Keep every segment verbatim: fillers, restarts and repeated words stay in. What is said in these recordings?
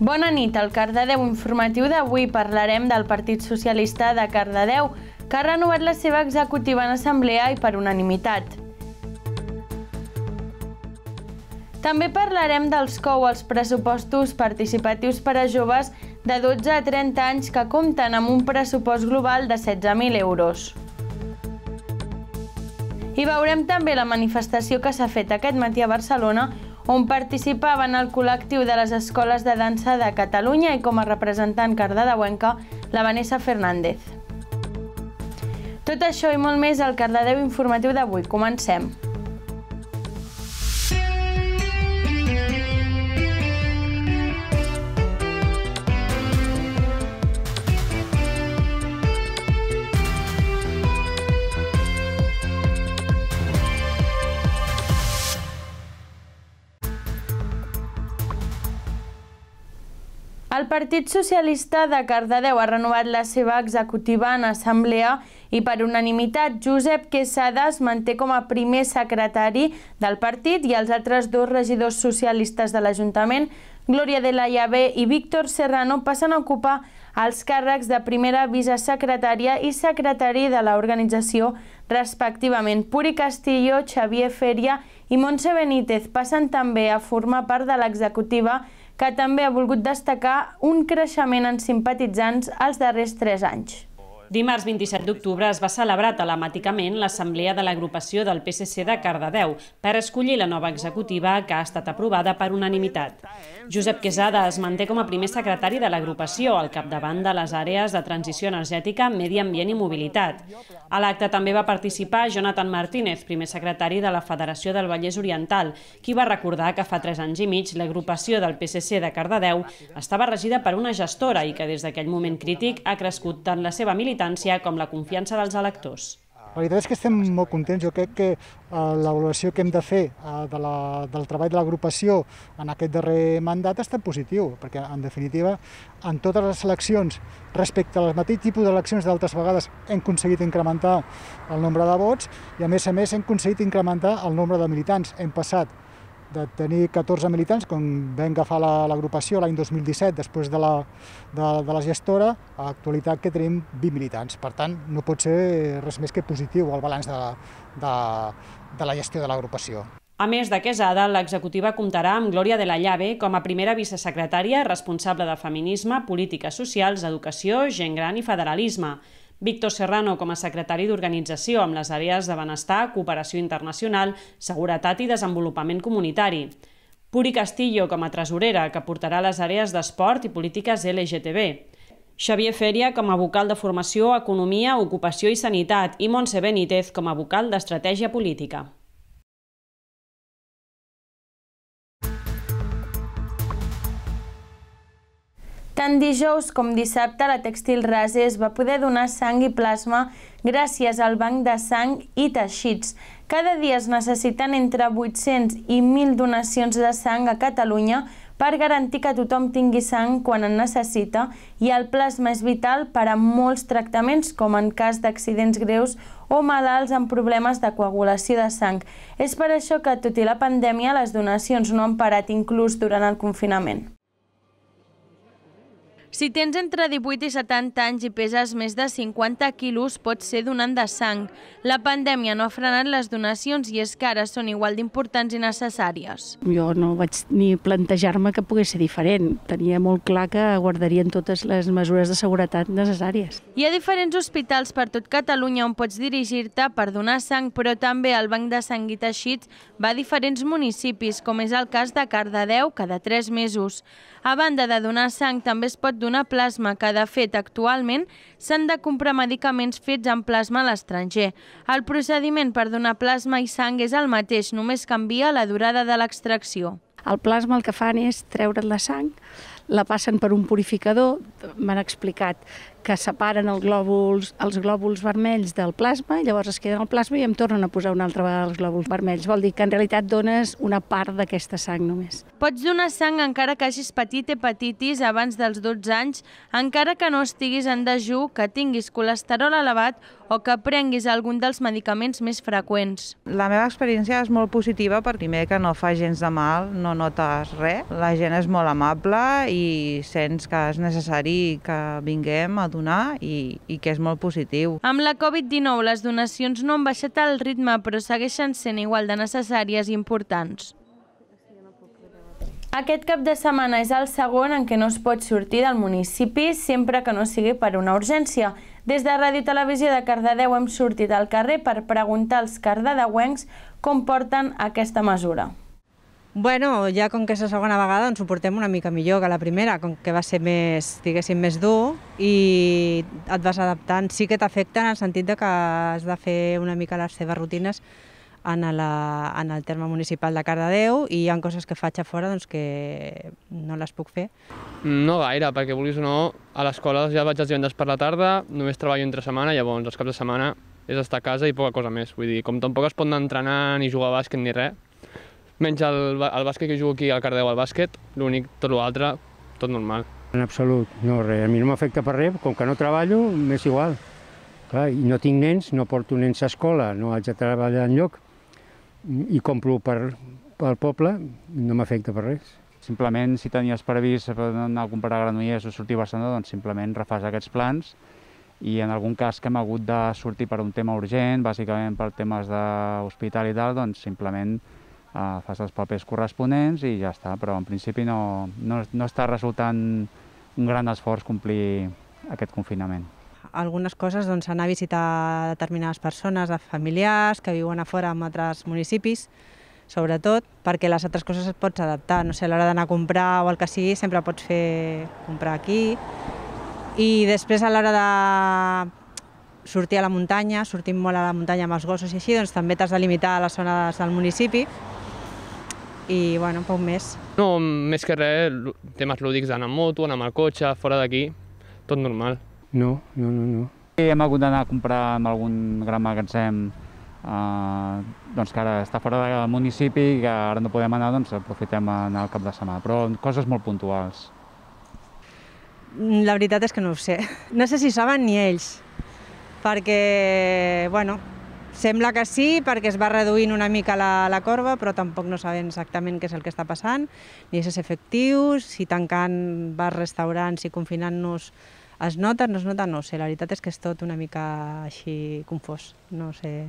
Bona nit, al Cardedeu informatiu d'avui parlarem del Partit Socialista de Cardedeu, que ha renovat la seva executiva en assemblea i per unanimitat. També parlarem dels C O U als pressupostos participatius per a joves de dotze a trenta anys que compten amb un pressupost global de setze mil euros. I veurem també la manifestació que s'ha fet aquest matí a Barcelona, on participaven el col·lectiu de les escoles de dansa de Catalunya i com a representant cardedeuenca, la Vanessa Fernández. Tot això i molt més al Cardedeu informatiu d'avui. Comencem. El Partit Socialista de Cardedeu ha renovat la seva executiva en assemblea i per unanimitat Josep Quesada es manté com a primer secretari del partit i els altres dos regidors socialistes de l'Ajuntament, Glòria de la Llave i Víctor Serrano, passen a ocupar els càrrecs de primera vicesecretària i secretari de l'organització respectivament. Puri Castillo, Xavier Feria i Montse Benítez passen també a formar part de l'executiva, que també ha volgut destacar un creixement en simpatitzants els darrers tres anys. Dimarts vint-i-set d'octubre es va celebrar telemàticament l'assemblea de l'agrupació del P S C de Cardedeu per escollir la nova executiva que ha estat aprovada per unanimitat. Josep Quesada es manté com a primer secretari de l'agrupació al capdavant de les àrees de transició energètica, medi ambient i mobilitat. A l'acte també va participar Jonathan Martínez, primer secretari de la Federació del Vallès Oriental, qui va recordar que fa tres anys i mig l'agrupació del P S C de Cardedeu estava regida per una gestora i que des d'aquell moment crític ha crescut tant la seva militància com la confiança dels electors. La veritat és que estem molt contents. Jo crec que l'avaluació que hem de fer del treball de l'agrupació en aquest darrer mandat ha estat positiu, perquè en definitiva en totes les eleccions, respecte al mateix tipus d'eleccions d'altres vegades, hem aconseguit incrementar el nombre de vots i a més a més hem aconseguit incrementar el nombre de militants. Hem passat de tenir catorze militants, quan vam agafar l'agrupació l'any dos mil disset, després de la, de, de la gestora, a l'actualitat que tenim vint militants. Per tant, no pot ser res més que positiu el balanç de, de, de la gestió de l'agrupació. A més de Quesada, l'executiva comptarà amb Glòria de la Llave com a primera vicesecretària responsable de feminisme, polítiques socials, educació, gent gran i federalisme. Víctor Serrano com a secretari d'organització amb les àrees de benestar, cooperació internacional, seguretat i desenvolupament comunitari. Puri Castillo com a tresorera, que portarà les àrees d'esport i polítiques L G T B. Xavier Feria com a vocal de formació, economia, ocupació i sanitat i Montse Benítez com a vocal d'estratègia política. Tant dijous com dissabte, la Tèxtil Rases va poder donar sang i plasma gràcies al banc de sang i teixits. Cada dia es necessiten entre vuit-cents i mil donacions de sang a Catalunya per garantir que tothom tingui sang quan en necessita i el plasma és vital per a molts tractaments, com en cas d'accidents greus o malalts amb problemes de coagulació de sang. És per això que, tot i la pandèmia, les donacions no han parat inclús durant el confinament. Si tens entre divuit i setanta anys i peses més de cinquanta quilos, pots ser donant de sang. La pandèmia no ha frenat les donacions i és que ara són igual d'importants i necessàries. Jo no vaig ni plantejar-me que pogués ser diferent. Tenia molt clar que guardarien totes les mesures de seguretat necessàries. Hi ha diferents hospitals per tot Catalunya on pots dirigir-te per donar sang, però també el Banc de Sang i Teixits va a diferents municipis, com és el cas de Cardedeu, cada tres mesos. A banda de donar sang, també es pot donar plasma, que de fet actualment s'han de comprar medicaments fets amb plasma a l'estranger. El procediment per donar plasma i sang és el mateix, només canvia la durada de l'extracció. El plasma el que fan és treure't la sang, la passen per un purificador. M'han explicat que separen el glòbuls, els glòbuls vermells del plasma, i llavors es queden al plasma i em tornen a posar una altra vegada els glòbuls vermells. Vol dir que en realitat dones una part d'aquesta sang només. Pots donar sang encara que hagis patit hepatitis abans dels dotze anys, encara que no estiguis en dejú, que tinguis colesterol elevat o que prenguis algun dels medicaments més freqüents. La meva experiència és molt positiva perquè primer que no fa gens de mal, no notes res. La gent és molt amable i sents que és necessari que vinguem a donar i, i que és molt positiu. Amb la Covid dinou les donacions no han baixat el ritme però segueixen sent igual de necessàries i importants. Aquest cap de setmana és el segon en què no es pot sortir del municipi sempre que no sigui per una urgència. Des de Ràdio Televisió de Cardedeu hem sortit al carrer per preguntar als cardedeuencs com porten aquesta mesura. Bueno, ja com que és la segona vegada ens ho portem una mica millor que la primera, com que va ser més, diguéssim, més dur i et vas adaptant. Sí que t'afecta en el sentit de que has de fer una mica les teves rutines en, la, en el terme municipal de Cardedeu i hi ha coses que faig a fora doncs, que no les puc fer. No gaire, perquè vulguis o no, a l'escola ja vaig els divendres per la tarda, només treballo entre setmana, llavors els caps de setmana és estar a casa i poca cosa més. Vull dir, com tampoc es pot anar a entrenar ni jugar a bàsquet ni res, menys el, el bàsquet que jugo aquí al Cardedeu al bàsquet, l'únic, tot l'altre, tot normal. En absolut, no res. A mi no m'afecta per res, com que no treballo, m'és igual. Clar, i no tinc nens, no porto nens a escola, no haig de treballar enlloc i compro per, pel poble, no m'afecta per res. Simplement, si tenies previst anar a comprar Granollers o sortir a Barcelona, doncs simplement refàs aquests plans i en algun cas que hem hagut de sortir per un tema urgent, bàsicament per temes d'hospital i tal, doncs simplement eh, fas els papers corresponents i ja està, però en principi no, no, no està resultant un gran esforç complir aquest confinament. Algunes coses, doncs, anar a visitar determinades persones, familiars que viuen a fora en altres municipis, sobretot, perquè les altres coses et pots adaptar. No sé, a l'hora d'anar a comprar o el que sigui, sempre pots fer comprar aquí. I després, a l'hora de sortir a la muntanya, sortim molt a la muntanya amb els gossos i així, doncs també t'has de limitar a les zones del municipi i, bueno, poc més. No, més que res, temes lúdics d'anar amb moto, anar amb el cotxe, fora d'aquí, tot normal. No, no, no, no. Hem hagut d'anar a comprar en algun gran magatzem eh, doncs que ara està fora del municipi i que ara no podem anar, doncs aprofitem anar al cap de setmana, però coses molt puntuals. La veritat és que no ho sé. No sé si saben ni ells, perquè, bueno, sembla que sí, perquè es va reduint una mica la, la corba, però tampoc no sabem exactament què és el que està passant, ni si és efectiu, si tancant bars, restaurants i confinant-nos es nota, no es nota, no sé. La veritat és que és tot una mica així confós. No sé,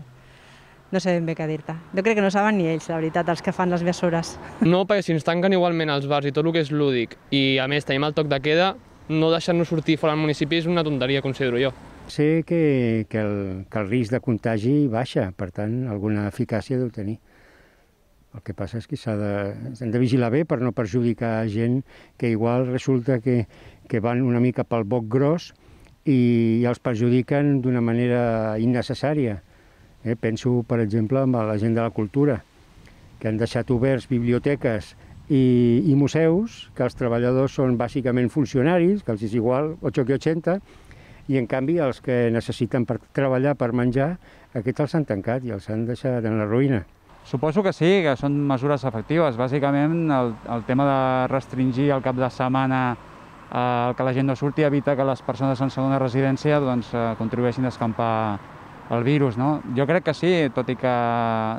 no sé ben bé què dir-te. Jo crec que no saben ni ells, la veritat, els que fan les mesures. No, perquè si ens tanquen igualment els bars i tot el que és lúdic i a més tenim el toc de queda, no deixar-nos sortir fora del municipi és una tonteria, considero jo. Sé que, que, el, que el risc de contagi baixa, per tant, alguna eficàcia deu tenir. El que passa és que s'ha de, s'han de vigilar bé per no perjudicar gent que igual resulta que, que van una mica pel boc gros i els perjudiquen d'una manera innecessària. Eh, penso, per exemple, en la gent de la cultura, que han deixat oberts biblioteques i, i museus, que els treballadors són bàsicament funcionaris, que els és igual ocho que ochenta, i en canvi els que necessiten per treballar, per menjar, aquests els han tancat i els han deixat en la ruïna. Suposo que sí, que són mesures efectives. Bàsicament, el, el tema de restringir el cap de setmana eh, que la gent no surti evita que les persones en segona residència doncs, eh, contribueixin a escampar el virus. No? Jo crec que sí, tot i que,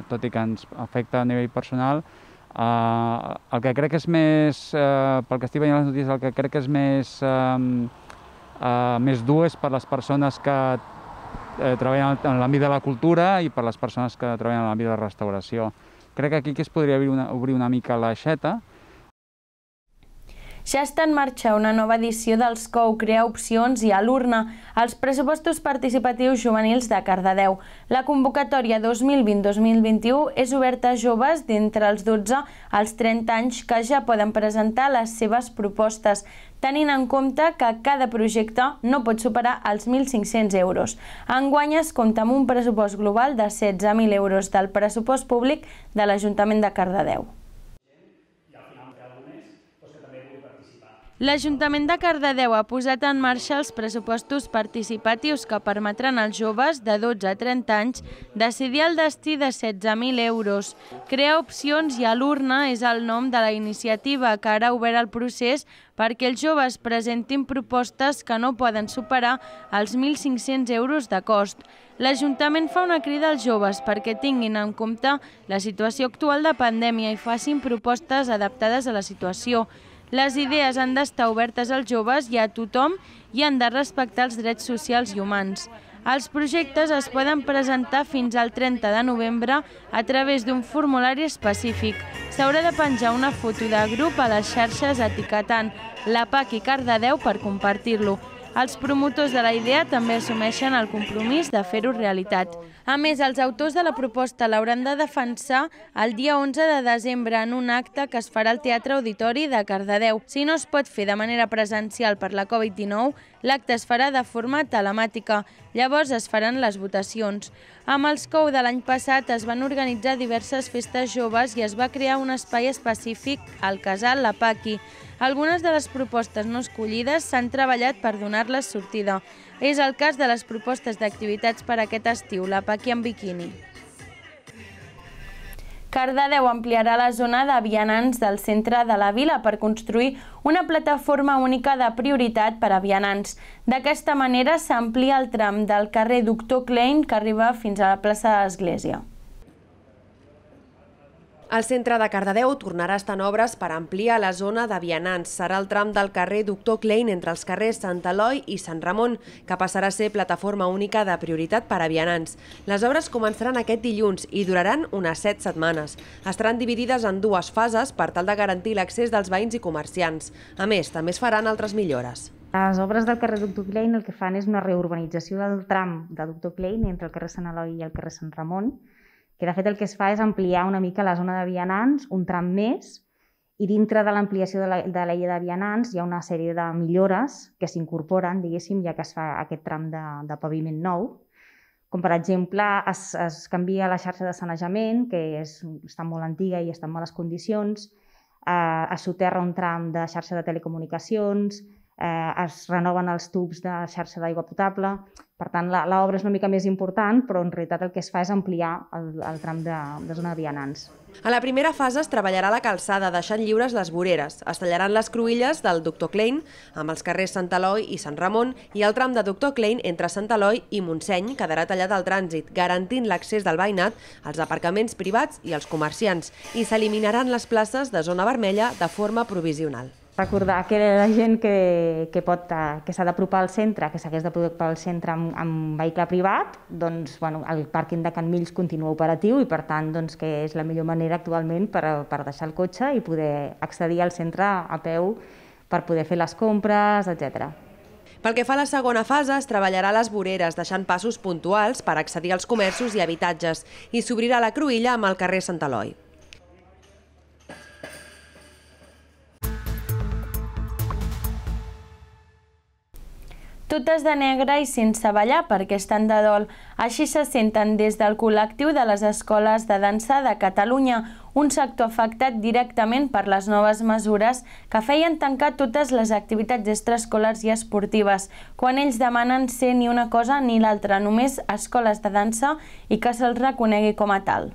tot i que ens afecta a nivell personal. Eh, el que crec que és més, eh, pel que estic veient les notícies, el que crec que és més, eh, eh, més dur és per les persones que Eh, treballen en l'àmbit de la cultura i per les persones que treballen en l'àmbit de la restauració. Crec que aquí que es podria obrir una, obrir una mica l'aixeta. Ja està en marxa una nova edició dels C O U Crea Opcions i a l'urna els pressupostos participatius juvenils de Cardedeu. La convocatòria dos mil vint dos mil vint-i-u és oberta a joves d'entre els dotze als trenta anys que ja poden presentar les seves propostes, tenint en compte que cada projecte no pot superar els mil cinc-cents euros. Enguany es compta amb un pressupost global de setze mil euros del pressupost públic de l'Ajuntament de Cardedeu. L'Ajuntament de Cardedeu ha posat en marxa els pressupostos participatius que permetran als joves de dotze a trenta anys decidir el destí de setze mil euros. Crear opcions i a l'urna és el nom de la iniciativa que ara ha obert el procés perquè els joves presentin propostes que no poden superar els mil cinc-cents euros de cost. L'Ajuntament fa una crida als joves perquè tinguin en compte la situació actual de pandèmia i facin propostes adaptades a la situació. Les idees han d'estar obertes als joves i a tothom i han de respectar els drets socials i humans. Els projectes es poden presentar fins al trenta de novembre a través d'un formulari específic. S'haurà de penjar una foto de grup a les xarxes etiquetant la P A C i Cardedeu per compartir-lo. Els promotors de la idea també assumeixen el compromís de fer-ho realitat. A més, els autors de la proposta l'hauran de defensar el dia onze de desembre en un acte que es farà al Teatre Auditori de Cardedeu. Si no es pot fer de manera presencial per la Covid dinou, l'acte es farà de forma telemàtica. Llavors es faran les votacions. Amb els C O U de l'any passat es van organitzar diverses festes joves i es va crear un espai específic al casal La Paqui. Algunes de les propostes no escollides s'han treballat per donar-les sortida. És el cas de les propostes d'activitats per aquest estiu, la Paqui en biquini. Cardedeu ampliarà la zona de vianants del centre de la vila per construir una plataforma única de prioritat per a vianants. D'aquesta manera s'amplia el tram del carrer Doctor Klein que arriba fins a la plaça de l'Església. El centre de Cardedeu tornarà a estar en obres per ampliar la zona de vianants. Serà el tram del carrer Doctor Klein entre els carrers Sant Eloi i Sant Ramon, que passarà a ser plataforma única de prioritat per a vianants. Les obres començaran aquest dilluns i duraran unes set setmanes. Estaran dividides en dues fases per tal de garantir l'accés dels veïns i comerciants. A més, també es faran altres millores. Les obres del carrer Doctor Klein el que fan és una reurbanització del tram de Doctor Klein entre el carrer Sant Eloi i el carrer Sant Ramon, que de fet el que es fa és ampliar una mica la zona de vianants, un tram més, i dintre de l'ampliació de, la, de la llei de vianants hi ha una sèrie de millores que s'incorporen, diguéssim, ja que es fa aquest tram de, de paviment nou. Com per exemple, es, es canvia la xarxa de sanejament, que és, està molt antiga i està en males condicions, eh, es soterra un tram de xarxa de telecomunicacions, eh, es renoven els tubs de xarxa d'aigua potable. Per tant, l'obra és una mica més important, però en realitat el que es fa és ampliar el, el tram de, de zona de vianants. A la primera fase es treballarà la calçada, deixant lliures les voreres. Es tallaran les cruïlles del Doctor Klein amb els carrers Sant Eloi i Sant Ramon i el tram de Doctor Klein entre Sant Eloi i Montseny quedarà tallat al trànsit, garantint l'accés del veïnat als aparcaments privats i als comerciants, i s'eliminaran les places de zona vermella de forma provisional. Recordar que la gent que, que, pot, que s'ha d'apropar al centre, que s'hagués d'apropar al centre amb, amb vehicle privat, doncs bueno, el pàrquing de Can Mills continua operatiu i per tant doncs, que és la millor manera actualment per, per deixar el cotxe i poder accedir al centre a peu per poder fer les compres, etcètera. Pel que fa a la segona fase, es treballarà les voreres, deixant passos puntuals per accedir als comerços i habitatges, i s'obrirà la cruïlla amb el carrer Sant Eloi. Totes de negre i sense ballar perquè estan de dol. Així se senten des del col·lectiu de les escoles de dansa de Catalunya, un sector afectat directament per les noves mesures que feien tancar totes les activitats extraescolars i esportives, quan ells demanen ser ni una cosa ni l'altra, només escoles de dansa i que se'ls reconegui com a tal.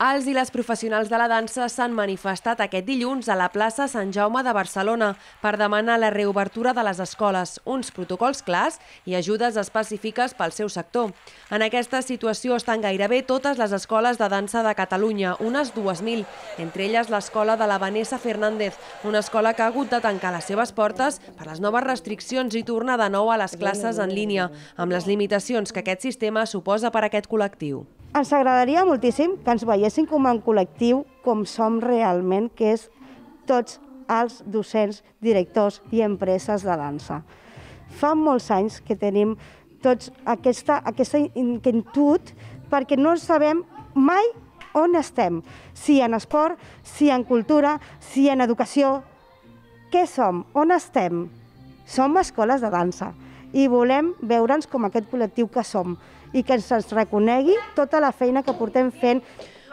Els i les professionals de la dansa s'han manifestat aquest dilluns a la plaça Sant Jaume de Barcelona per demanar la reobertura de les escoles, uns protocols clars i ajudes específiques pel seu sector. En aquesta situació estan gairebé totes les escoles de dansa de Catalunya, unes dues mil, entre elles l'escola de la Vanessa Fernández, una escola que ha hagut de tancar les seves portes per les noves restriccions i tornar de nou a les classes en línia, amb les limitacions que aquest sistema suposa per a aquest col·lectiu. Ens agradaria moltíssim que ens veiessin com un col·lectiu com som realment, que és tots els docents, directors i empreses de dansa. Fa molts anys que tenim tots aquesta, aquesta inquietud perquè no sabem mai on estem, si en esport, si en cultura, si en educació. Què som? On estem? Som escoles de dansa i volem veure'ns com aquest col·lectiu que som i que ens reconegui tota la feina que portem fent.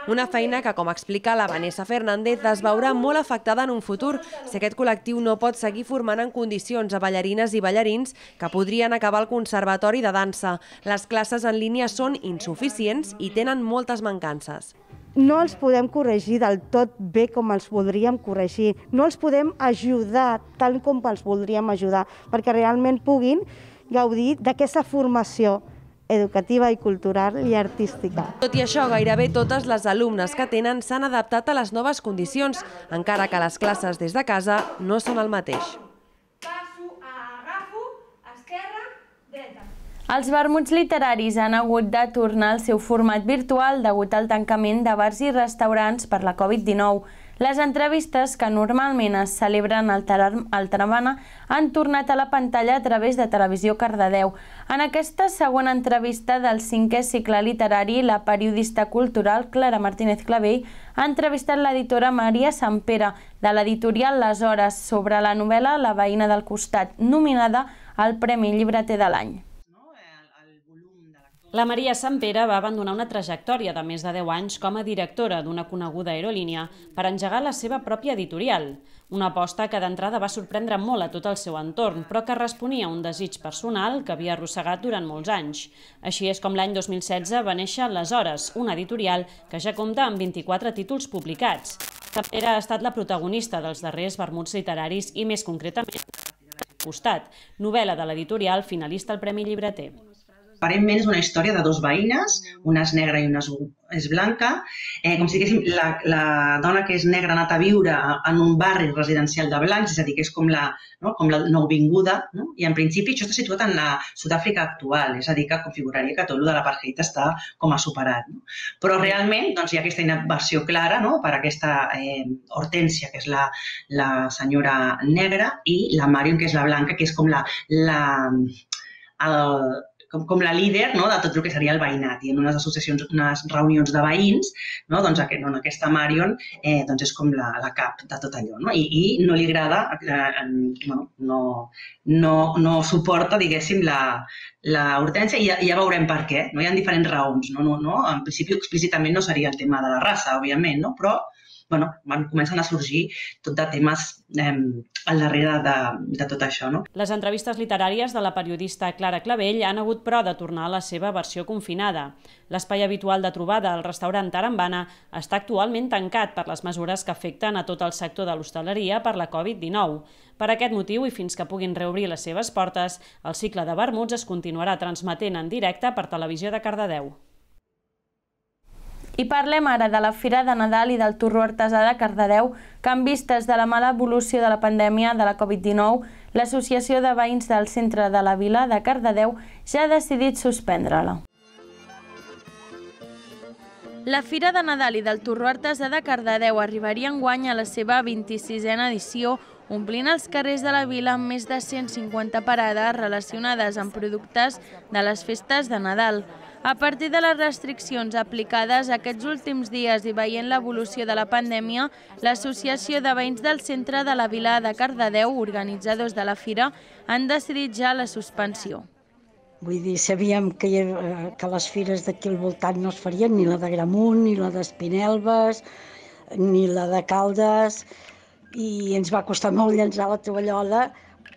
Una feina que, com explica la Vanessa Fernández, es veurà molt afectada en un futur si aquest col·lectiu no pot seguir formant en condicions a ballarines i ballarins que podrien acabar al Conservatori de Dansa. Les classes en línia són insuficients i tenen moltes mancances. No els podem corregir del tot bé com els voldríem corregir, no els podem ajudar tal com els voldríem ajudar, perquè realment puguin gaudir d'aquesta formació educativa i cultural i artística. Tot i això, gairebé totes les alumnes que tenen s'han adaptat a les noves condicions, encara que les classes des de casa no són el mateix. Els vermuts literaris han hagut de tornar al seu format virtual degut al tancament de bars i restaurants per la Covid dinou. Les entrevistes, que normalment es celebren al Taramana, han tornat a la pantalla a través de Televisió Cardedeu. En aquesta segona entrevista del cinquè cicle literari, la periodista cultural Clara Martínez Clavell ha entrevistat l'editora Maria Sampere, de l'editorial Les Hores, sobre la novel·la La veïna del costat, nominada al Premi Llibreter de l'any. La Maria Sampere va abandonar una trajectòria de més de deu anys com a directora d'una coneguda aerolínia per engegar la seva pròpia editorial, una aposta que d'entrada va sorprendre molt a tot el seu entorn, però que responia a un desig personal que havia arrossegat durant molts anys. Així és com l'any dos mil setze va néixer Les Hores, una editorial que ja compta amb vint-i-quatre títols publicats. Sampere ha estat la protagonista dels darrers vermuts literaris i, més concretament, Costat, novel·la de l'editorial finalista al Premi Llibreter. Aparentment és una història de dos veïnes, una és negra i una és blanca. Eh, com si diguéssim, la, la dona que és negra ha anat a viure en un barri residencial de blancs, és a dir, que és com la, no, com la nouvinguda, no? I en principi això està situat en la Sud-àfrica actual, és a dir, que configuraria que tot el de l'apartheid està com a superat. No? Però realment doncs, hi ha aquesta inversió clara, no? Per aquesta eh, Hortènsia, que és la, la senyora negra, i la Marion, que és la blanca, que és com la... la el, Com, com la líder, no, de tot el que seria el veïnat. I en unes associacions, unes reunions de veïns, no, doncs aquest, no, aquesta Marion eh, doncs és com la, la cap de tot allò. No? I, I no li agrada, eh, no, no, no, no suporta, diguéssim, la, la Hortènsia, i ja, ja veurem per què. No? Hi ha diferents raons. No? No, no? En principi, explícitament no seria el tema de la raça, òbviament, no? Però bueno, van, comencen a sorgir tot de temes eh, al darrere de, de tot això. No? Les entrevistes literàries de la periodista Clara Clavell han hagut però de tornar a la seva versió confinada. L'espai habitual de trobada al restaurant Tarambana està actualment tancat per les mesures que afecten a tot el sector de l'hostaleria per la Covid dinou. Per aquest motiu, i fins que puguin reobrir les seves portes, el cicle de vermuts es continuarà transmetent en directe per Televisió de Cardedeu. I parlem ara de la Fira de Nadal i del Torró Artesà de Cardedeu, que en vistes de la mala evolució de la pandèmia de la Covid dinou, l'Associació de Veïns del Centre de la Vila de Cardedeu ja ha decidit suspendre-la. La Fira de Nadal i del Torró Artesà de Cardedeu arribaria enguany a la seva vint-i-sisena edició, omplint els carrers de la vila amb més de cent cinquanta parades relacionades amb productes de les festes de Nadal. A partir de les restriccions aplicades aquests últims dies i veient l'evolució de la pandèmia, l'Associació de Veïns del Centre de la Vila de Cardedeu, organitzadors de la fira, han decidit ja la suspensió. Vull dir, sabíem que, que les fires d'aquí al voltant no es farien, ni la de Gramunt, ni la d'Espinelves, ni la de Caldes, i ens va costar molt llançar la tovallola,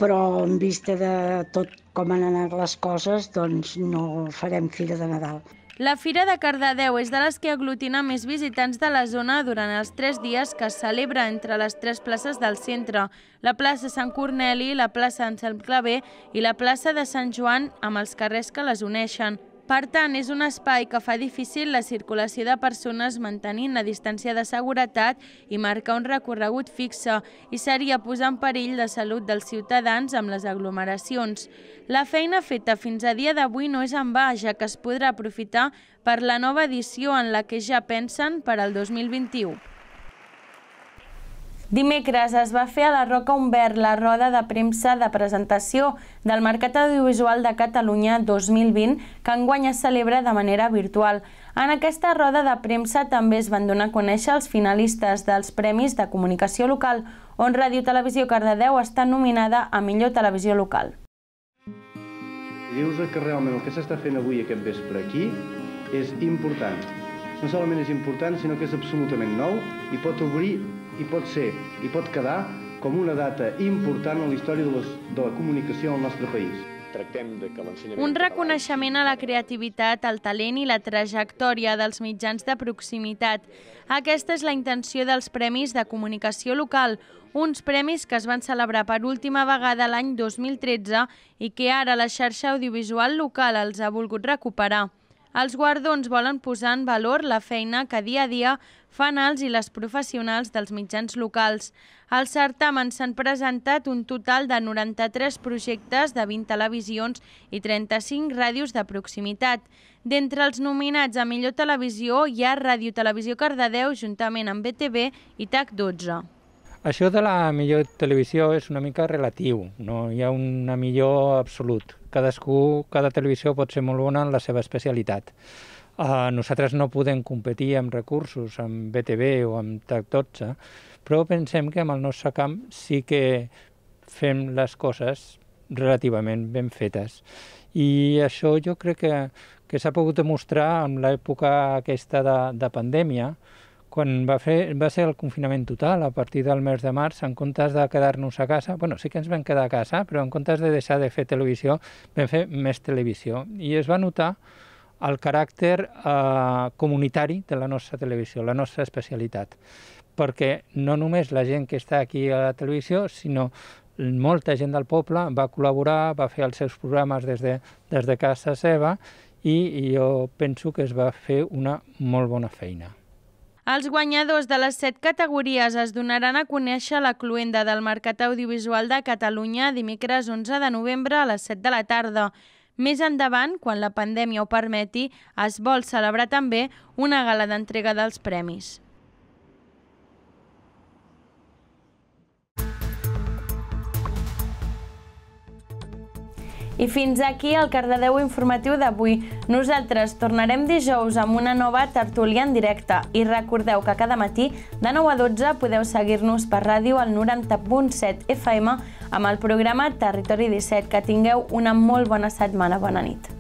però en vista de tot com han anat les coses, doncs no farem Fira de Nadal. La Fira de Cardedeu és de les que aglutina més visitants de la zona durant els tres dies que es celebra entre les tres places del centre, la plaça Sant Corneli, la plaça Anselm Clavé i la plaça de Sant Joan, amb els carrers que les uneixen. Per tant, és un espai que fa difícil la circulació de persones mantenint la distància de seguretat i marcar un recorregut fixe, i seria posar en perill la salut dels ciutadans amb les aglomeracions. La feina feta fins a dia d'avui no és en va, ja que es podrà aprofitar per la nova edició en la que ja pensen per al dos mil vint-i-u. Dimecres es va fer a la Roca Humbert la roda de premsa de presentació del Mercat Audiovisual de Catalunya dos mil vint, que enguany es celebra de manera virtual. En aquesta roda de premsa també es van donar a conèixer els finalistes dels Premis de Comunicació Local, on Ràdio Televisió Cardedeu està nominada a millor televisió local. Dius que realment el que s'està fent avui aquest vespre aquí és important. no solament és important, sinó que és absolutament nou i pot obrir, i pot ser, i pot quedar com una data important en la història de, les, de la comunicació al nostre país. Un reconeixement a la creativitat, el talent i la trajectòria dels mitjans de proximitat. Aquesta és la intenció dels Premis de Comunicació Local, uns premis que es van celebrar per última vegada l'any dos mil tretze i que ara la xarxa audiovisual local els ha volgut recuperar. Els guardons volen posar en valor la feina que dia a dia fan els i les professionals dels mitjans locals. Al certamen s'han presentat un total de noranta-tres projectes de vint televisions i trenta-cinc ràdios de proximitat. D'entre els nominats a millor televisió hi ha Ràdio Televisió Cardedeu juntament amb B T V i T A C dotze. Això de la millor televisió és una mica relatiu, no hi ha una millor absolut. Cadascú, cada televisió pot ser molt bona en la seva especialitat. Uh, nosaltres no podem competir amb recursos, amb B T V o amb T A C dotze, però pensem que amb el nostre camp sí que fem les coses relativament ben fetes. I això jo crec que, que s'ha pogut demostrar en l'època aquesta de, de pandèmia, quan va, fer, va ser el confinament total, a partir del mes de març, en comptes de quedar-nos a casa, bueno, sí que ens vam quedar a casa, però en comptes de deixar de fer televisió, vam fer més televisió. I es va notar el caràcter eh, comunitari de la nostra televisió, la nostra especialitat. Perquè no només la gent que està aquí a la televisió, sinó molta gent del poble va col·laborar, va fer els seus programes des de, des de casa seva i jo penso que es va fer una molt bona feina. Els guanyadors de les set categories es donaran a conèixer a la cloenda del Mercat Audiovisual de Catalunya dimecres onze de novembre a les set de la tarda. Més endavant, quan la pandèmia ho permeti, es vol celebrar també una gala d'entrega dels premis. I fins aquí el Cardedeu informatiu d'avui. Nosaltres tornarem dijous amb una nova tertúlia en directe i recordeu que cada matí de nou a dotze podeu seguir-nos per ràdio al noranta punt set F M amb el programa Territori disset. Que tingueu una molt bona setmana. Bona nit.